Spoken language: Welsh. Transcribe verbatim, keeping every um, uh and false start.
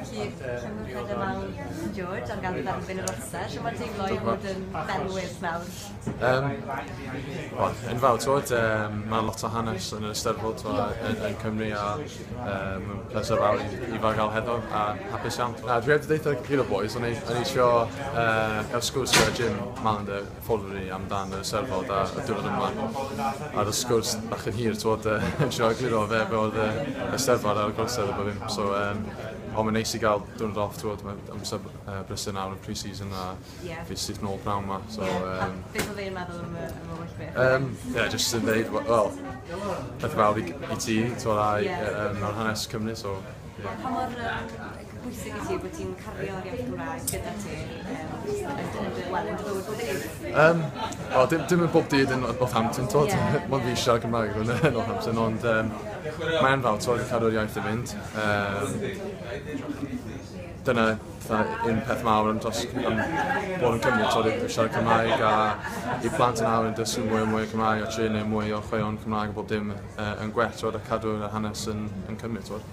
Felly, llongyfarchiadau mawr, George, am gael dderbyn yr orsedd. Shwt mae'n teimlo i fod yn felwydd nawr? Um, Wel, enfawr, twod, um, mae lot o hanes yn yr Eisteddfod, twod, yn, yn Cymru a um, pleser fawr i, i fel gael heddo a hapus iawn. Na, dwi wedi deitha gyd o boys, o'n i, o'n i isio uh, gael sgwrs gyda Jim Mallinder, ffordd ni amdan yr Eisteddfod a y diwrnod yma. A y sgwrs bach yn hir, twod, uh, yn trio egluro fe be oedd y Eisteddfod a'r gorsedd a bob dim. So, um, ond mae'n neis i gael diwrnod off, twod, mae amser uh, brysur nawr yn pre-season a Ie. fi syth nôl pnawn 'ma. So, Ie. um, A beth oedd e'n meddwl am y, am y holl beth? Um, yeah, just yn dweud, wel, peth fawr i, i ti, twod, a Ie. um, mewn hanes Cymru, so, yeah. Pa mor um, bwysig i ti bod ti'n cario'r iaith Gymraeg gyda ti um, yn, yn, yn, wel, yn dy fywyd bob dydd? Um, Wel, dim, dim yn bob dydd yn Northampton, twod, Ie. Mae'n fi siarad Cymraeg yn Northampton, ond um, mae'n fawr, twod, i cadw'r iaith i fynd. Um, dyna fatha un peth mawr am, dros, am bod yn Cymru, twod, i siarad Cymraeg a i plant yn awr yn dysgu mwy a mwy o Cymraeg a trio neud mwy o chwaraeon Cymraeg a bob dim uh, yn gwell, twod, a cadw'r hanes yn, yn Cymru, twod.